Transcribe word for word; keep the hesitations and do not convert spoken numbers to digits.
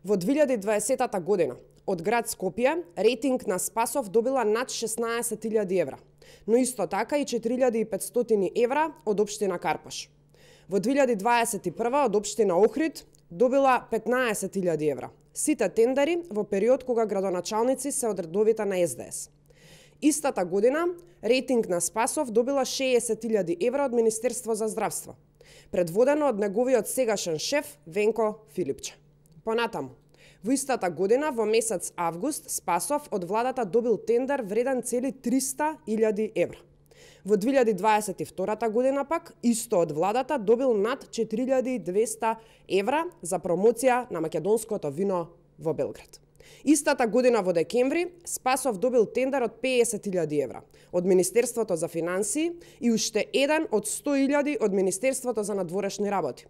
Во две илјади и дваесета година од град Скопје рейтинг на Спасов добила над шеснаесет илјади евра, но исто така и четири илјади и петстотини евра од општина Карпаш. Во две илјади дваесет и прва од општина Охрид добила петнаесет илјади евра. Сите тендери во период кога градоначалници се од редовите на Ес Де Ес. Истата година рейтинг на Спасов добила шеесет илјади евра од Министерство за здравство, предводено од неговиот сегашен шеф Венко Филипче. Понатаму, во истата година во месец август Спасов од владата добил тендер вреден цели триста илјади евра. Во две илјади дваесет и втората година пак исто од владата добил над четири илјади и двесте евра за промоција на македонското вино во Белград. Истата година во декември Спасов добил тендер од пеесет илјади евра од Министерството за финансии и уште еден од сто илјади од Министерството за надворешни работи.